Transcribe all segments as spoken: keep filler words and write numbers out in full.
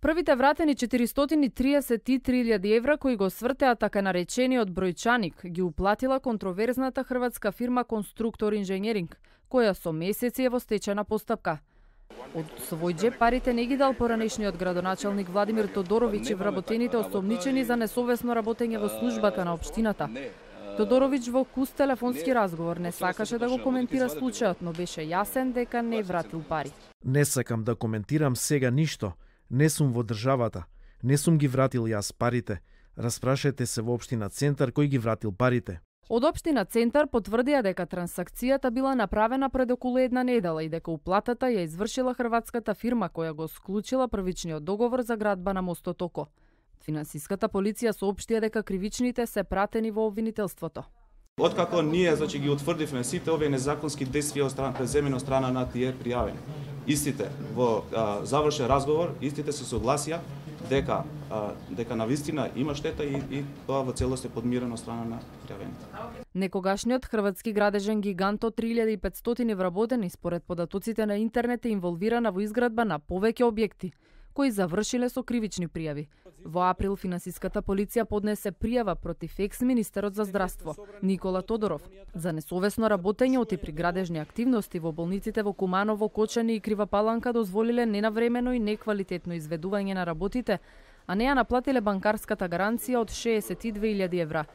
Првите вратени четиристотини и триесет и три илјади евра кои го свртеа така наречениот бројчаник ги уплатила контроверзната хрватска фирма Конструктор инженеринг, која со месеци е во стечајна постапка. Од свој джеб парите не ги дал поранешниот градоначалник Владимир Тодоровиќ и вработените осомничени за несовесно работење во службата на општината. Тодоровиќ во куст телефонски разговор не сакаше да го коментира случајот, но беше јасен дека не вратил пари. Не сакам да коментирам сега ништо. Не сум во државата. Не сум ги вратил јас парите. Распрашајте се во општина Центар кој ги вратил парите. Од општина Центар потврдија дека трансакцијата била направена пред околу една недела и дека уплатата ја извршила хрватската фирма која го склучила првичниот договор за градба на мостот Око. Финансиската полиција соопштија дека кривичните се пратени во обвинителството. Откако ние значи ги утврдивме сите овие незаконски действија од страна преземени од страна на тие пријавени. Истите во а, завршен разговор, истите се согласија дека а, дека навистина има штета и, и тоа во целост е подмирено од страна на пријавените. Некогашниот хрватски градежен гигант од три илјади и петстотини вработени според податоците на интернет е инволвирана во изградба на повеќе објекти кои завршиле со кривични пријави. Во април финансиската полиција поднесе пријава против екс-министерот за здравство Никола Тодоров за несовесно работење оти при градежни активности во болниците во Куманово, Кочани и Крива Паланка дозволиле ненавремено и неквалитетно изведување на работите, а не ја наплатиле банкарската гаранција од шеесет и две илјади евра.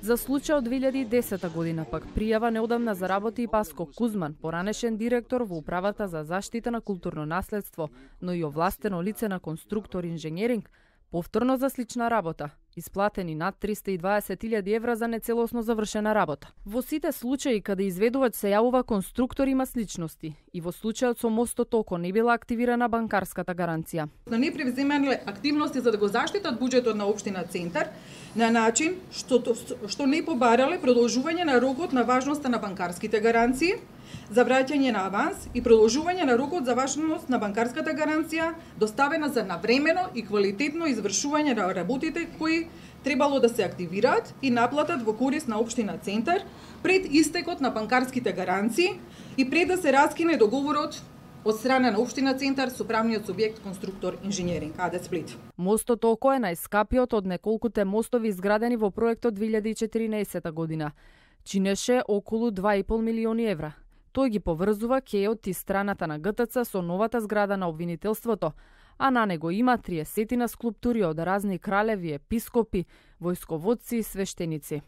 За случај од две илјади и десета година пак пријава неодамна заработи и Паско Кузман, поранешен директор во Управата за заштита на културно наследство, но и овластено лице на Конструктор инженеринг, повторно за слична работа, исплатени над триста и дваесет илјади евра за нецелосно завршена работа. Во сите случаи каде изведувач се јавува конструктор има сличности и во случајот со мостот Око не била активирана банкарската гаранција. Но не превземале активности за да го заштитат буџетот на општина Центар на начин што што не побарале продолжување на рокот на важноста на банкарските гаранции, за враќање на аванс и продолжување на рокот за важност на банкарската гаранција, доставена за навремено и квалитетно извршување на работите кои требало да се активираат и наплатат во корист на општина Центар пред истекот на банкарските гаранции и пред да се раскине договорот од страна на општина Центар со правниот субјект Конструктор инженеринг АД Сплит. Мостот Око е најскапиот од неколкуте мостови изградени во проектот две илјади и четиринаесета година. Чинеше околу два и пол милиони евра. Тој ги поврзува кејот и страната на ГТЦ со новата зграда на обвинителството, а на него има триесет скулптури од разни кралеви, епископи, војсководци и свештеници.